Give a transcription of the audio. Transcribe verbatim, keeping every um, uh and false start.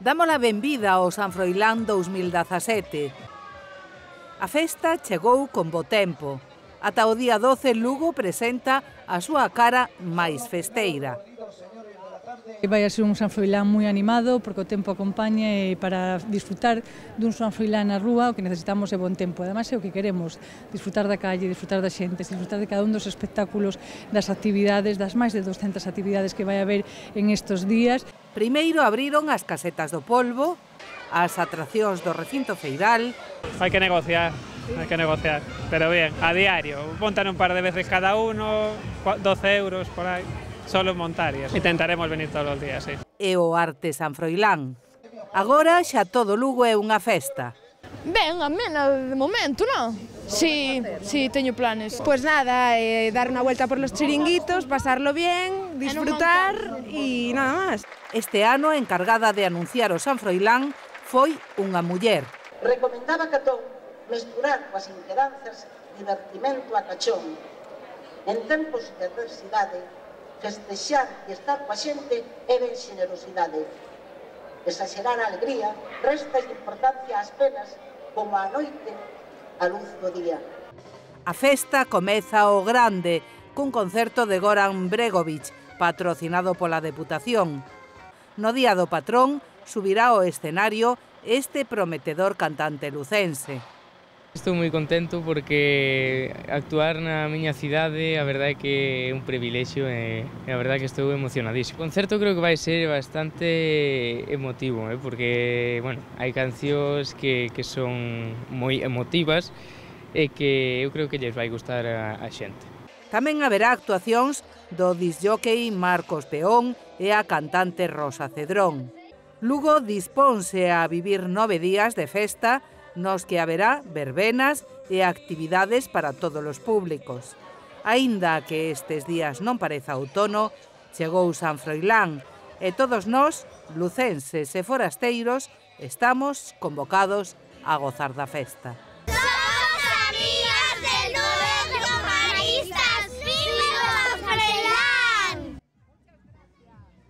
Damos a benvida ao San Froilán dous mil dezasete. A festa chegou con bo tempo. Ata o día doce, Lugo presenta a súa cara máis festeira. Vai a ser un San Froilán moi animado, porque o tempo acompaña e para disfrutar dun San Froilán na rúa o que necesitamos é bon tempo. Ademais é o que queremos, disfrutar da calle, disfrutar da xente, disfrutar de cada un dos espectáculos, das actividades, das máis de doscientas actividades que vai haber en estes días. Primeiro abriron as casetas do polvo, as atraccións do recinto feiral. Hai que negociar, hai que negociar, pero bien, a diario. Montan un par de veces cada uno, doce euros por aí, solo montar e intentaremos venir todos os días, sí. E o Arte San Froilán. Agora xa todo Lugo é unha festa. Ben, amena de momento, non? Sí, sí, teño planes. Pues nada, eh, dar unha vuelta por los chiringuitos, pasarlo bien, disfrutar e nada máis. Este ano, a encargada de anunciar o San Froilán foi unha muller. Recomendaba Catón mesturar coas inquedanzas divertimento a cachón. En tempos de adversidade, festexar e estar coa xente é ben xenerosidade. Exagerar a alegría resta de importancia ás penas como a noite a luz do día. A festa comeza o grande cun concerto de Goran Bregovic, patrocinado pola Deputación. No día do patrón subirá ao escenario este prometedor cantante lucense. Estou moi contento porque actuar na miña cidade a verdade é que é un privilexio e a verdade é que estou emocionadísimo. O concerto creo que vai ser bastante emotivo, eh, porque bueno, hai cancións que, que son moi emotivas e que eu creo que lles vai gustar a, a xente. Tamén haberá actuacións do disjockey Marcos Peón e a cantante Rosa Cedrón. Lugo disponse a vivir nove días de festa nos que haberá verbenas e actividades para todos os públicos. Aínda que estes días non pareza outono, chegou San Froilán e todos nós, lucenses e forasteiros, estamos convocados a gozar da festa.